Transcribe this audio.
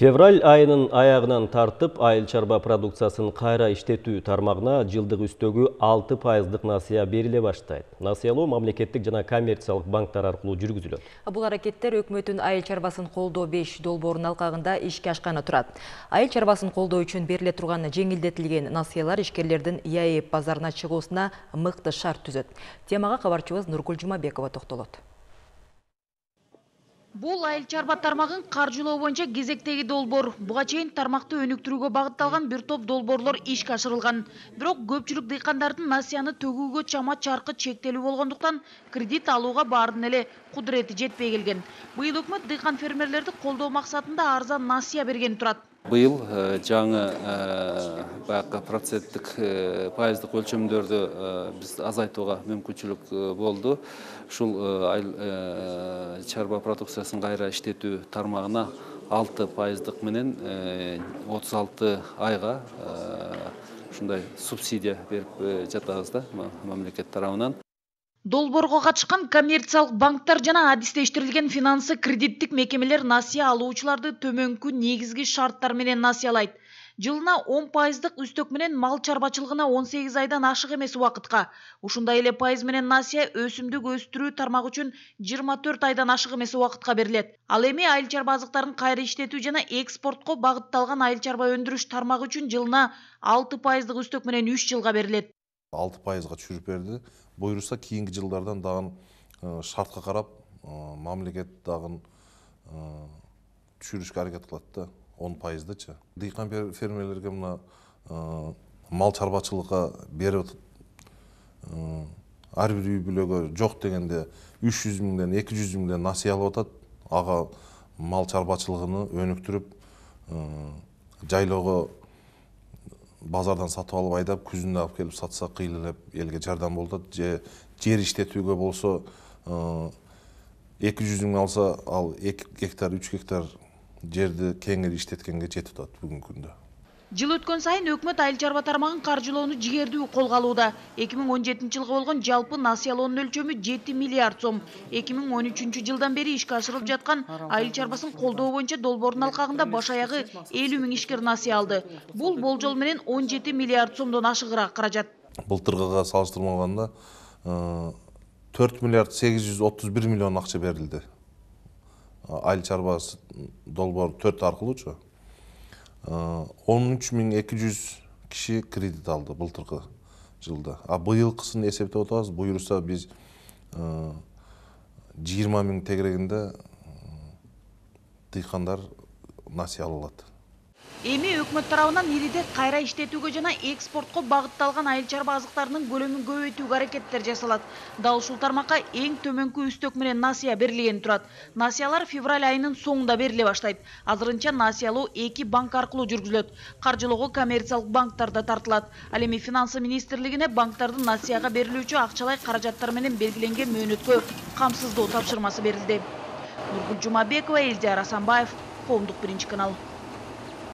Февраль айынын аягынан тартып, айыл чарба продукциясын кайра иштетүү тармагына жылдык үстөгү 6% насыя бериле баштайт. Насыялоо мамлекеттик жана коммерциялык банктар аркылуу жүргүзүлөт. Бул аракеттер өкмөттүн айыл чарбасын колдоо 5 долбоорунун алкагында ишке ашканы турат. Айыл чарбасын колдоо үчүн бериле турган жеңилдетилген насыялар ишкерлердин ЯЭП базарына чыгуусуна мыкты шарт түзөт. Темага кабарчыбыз Нургүл Жумабекова токтолот. Бул айыл чарба тармагын каржылоо боюнча кезектеги долбоор. Буга чейин тармакты өнүктүрүүгө багытталган бир топ долбоорлор ишке ашырылган. Бирок көпчүлүк дыйкандардын насыяны төгүүгө чама чаркы чектелүү болгондуктан кредит алууга баардын эле кудурети жетпей келген. Быйыл өкмөт дыйкан фермерлерди колдоо максатында арзан насыя берген турат. Быйыл жаңы баягы проценттик пайыздык өлчөмдөрдү биз азайтууга мүмкүнчүлүк болду. Ушул айыл чарба продукциясын кайра иштетүү тармагына 6% менен 36 айга ушундай субсидия берип жатабыз да мамлекет тарабынан. Долбоорго катышкан коммерциялык банктар жана адистештирилген финансы кредиттик мекемелер насыя алуучуларды төмөнкү негизги шарттар менен насыялайт. Жылына 10% үстөк менен мал чарбачылыгына 18 айдан ашык эмес убакытка, ушундай эле пайыз менен насыя өсүмдүк өстүрүү тармагы үчүн 24 айдан ашык эмес убакытка берилет. Ал эми айыл чарба азыктарын кайра иштетүү жана экспортко багытталган айыл чарба өндүрүш тармагы үчүн жылына 6% үстөк менен 3 жылга берилет. 6%га түшүрүп берди. Буюрса кийинки жылдардан дагы шартка карап мамлекет дагы түшүрүшкө аракет кылат да 10%чы. Дыйкан фермерлерге мына мал чарбачылыкка берип ар бир үй бүлөгө жок дегенде 300 миңден 200 миңден насыя алып атат. Ага мал чарбачылыгын өнүктүрүп жайлоого базардан сатып алып айдап, күзүндө алып келип сатса кыйлылап элге жардам болот. Жер иштетүүгө болсо 200 миң алса, ал 2 гектар, 3 гектар жерди кеңири иштеткенге жетип атат бүгүнкү күндө. Жыл өткөн сайын өкмөт айыл чарба тармагын каржылоону жигердүү колго алууда. 2017 жылга болгон жалпы насыялоонун өлчөмү 7 миллиард сом. 2013 жылдан бери ишке ашырылып жаткан айыл чарбасын колдоо боюнча долбоордун алкагында баш аягы 50 миң ишкер насыя алды. Бул болжол менен 17 миллиард сомдон ашыгыраак каражат. Былтыргыга салыштырмаганда 4 миллиард 831 миллион акча берилди. Айыл чарбасы долбоор 4 аркылуучу. 13.200 киши кредит алды былтыркы жылда. Быйылкысын эсептеп отабыз. Буюрса биз 20 миң тегерегинде дыйкандар насыя ала алат. Эми өкмөт тарабынан ириде кайра иштетүүгө жана экспортко багытталган айыл чарба азыктарынын көлөмүн көбөйтүүгө аракеттер жасалат. Дал ушул тармакка эң төмөнкү үстөк менен насыя берилген турат. Насыялар февраль айынын соңунда бериле баштайт. Азырынча насыялоо 2 банк аркылуу жүргүзүлөт. Каржылоого коммерциялык банктар да тартылат. Ал эми финансы министрлигине банктардын насыяга берилүүчү акчалай каражаттар менен белгиленген мөөнөткө камсыздоо тапшырмасы берилди. Нургүл Жумабекова, Элдияр Асанбаев, Коомдук 1 канал.